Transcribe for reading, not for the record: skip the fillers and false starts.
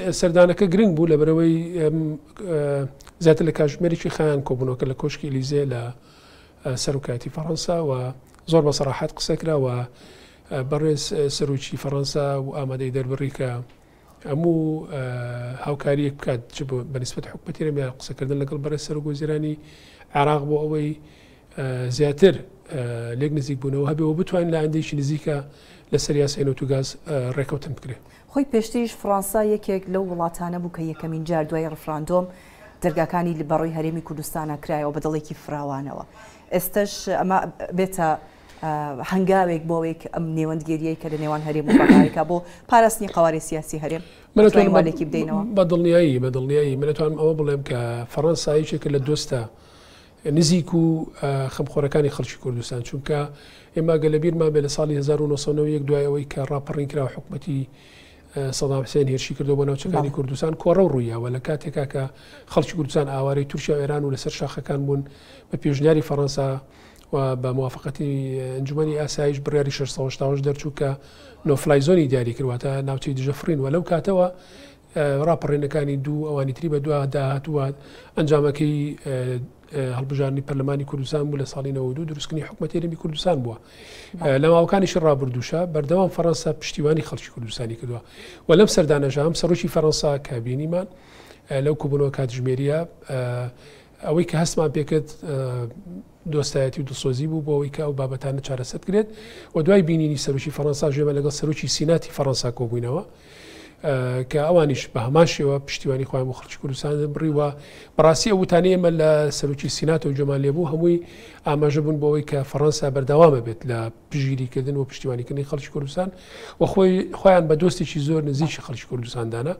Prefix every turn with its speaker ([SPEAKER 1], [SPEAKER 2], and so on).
[SPEAKER 1] سەردانەکە گرنگ بوو لەبەرئەوەی زیاتر لە کاتژمێرێکی خایان کۆبوونەوەکە لە کۆشکی ئلیزێ لە سەرۆکایەتی فەڕەنسا و زۆر بە سەراحەت قسە کرا و بەڕێز سەرۆکی فەڕەنسا و ئامادەی دەربڕی کە هەموو هاوکاریەک بکات چ بە نسبەت حکومەتی هەرێم یا قسەکردن لەگەڵ بەڕێز سەرۆک وەزیرانی عێراق بۆ ئەوەی زیاتر لێک نزیک بوونەوە هەبێ و بتوانین لە ئایندەیەکی نزیکە لەسەر یاسای نەوت و گاز ڕێکەوتن بکرێت.
[SPEAKER 2] خۆی پێشتریش فڕانسا یەکێک لەو وڵاتانە بوو کە یەکەمین جار دوای ڕفراندۆم دەرگاکانی بەڕووی هەرێمی کوردستانا کرایەوە بە دڵێکی فراوانەوە. ئێستەش ئەمە بێتە هەنگاوێک بۆ ئەوەی کە ئەم نێوەندگێرییەی کە لە نێوان هەرێم و بەغایەکە بۆ پاراستنی قەوارەی سیاسی هەرێم
[SPEAKER 1] من
[SPEAKER 2] ئەتوانین
[SPEAKER 1] ئەتوانم
[SPEAKER 2] وا لێکی بدەینەوە؟
[SPEAKER 1] بە دڵنیایی بە دڵنیایی من ئەتوانم ئەوە بڵێم کە فەڕەنسا یەکێکە لە دۆستە نزیک و خەمخۆرەکانی خەڵکی کوردستان، چونکە ئێمە گەر لەبیرمان بێت لە ساڵی 1991 دوای ئەوەی کە ڕاپەڕین کرا و حکومەتی سەدام حسێن هێرشی کردەوە بۆ ناوچەکانی کوردستان کۆڕەو ڕوویاوە لە کاتێکا کە خەڵکی کوردستان ئاوارەی تورکیا و ئێران و لەسەر شاخەکان بوون بە پێشنیاری فەڕەنسا و بە موافقەتی ئەنجومەنی ئاسایش بڕیاری 688 دەرچوو کە no fly zone ی دیاری کرد واتە ناوچەی دژە فڕین و لەو کاتەوە ڕاپەڕینەکانی دوو ئەوانی تری بەدوادا هاتووە، ئەنجامەکەی هەڵبژاردنی پەرلەمانی کوردستان بوو لە ساڵی 92 دروستکردنی حکومەتی هەرێمی کوردستان بووە. لە ماوەکانیشی ڕابردووشە بەردەوام فەڕەنسا پشتیوانی خەڵکی کوردستانی کردووە و لەم سەردانەشا هەم سەرۆکی فەڕەنسا کە بینیمان لەو کۆبوونەوە کاتژمێریە ئەوەی کە هەستمان پێکرد دۆستایەتی و دڵسۆزی بوو بۆ ئەوەی کە ئەو بابەتانە چارەسەر بکرێت و دوای بینینی سەرۆکی فەڕەنسا ژێمە لەگەڵ سەرۆکی سیناتی فەڕەنسا کۆبووینەوە کە ئەوانیش بە هەمان شێوە پشتیوانی خۆیان بۆ خەڵکی کوردستان بڕی و بەڕاستی ئەو وتانەی ئێمە لە سەرۆکی سیناتەوە گوێمان لێبوو هەمووی ئاماژە بوون بۆ ئەوەی کە فەڕەنسا بەردەوامە بێت لە پشتگیریکردن و پشتیوانیکردنی خەڵکی کوردستان و خۆی خۆیان بە دۆستێکی زۆر نزیکی خەڵکی کوردستان دانا.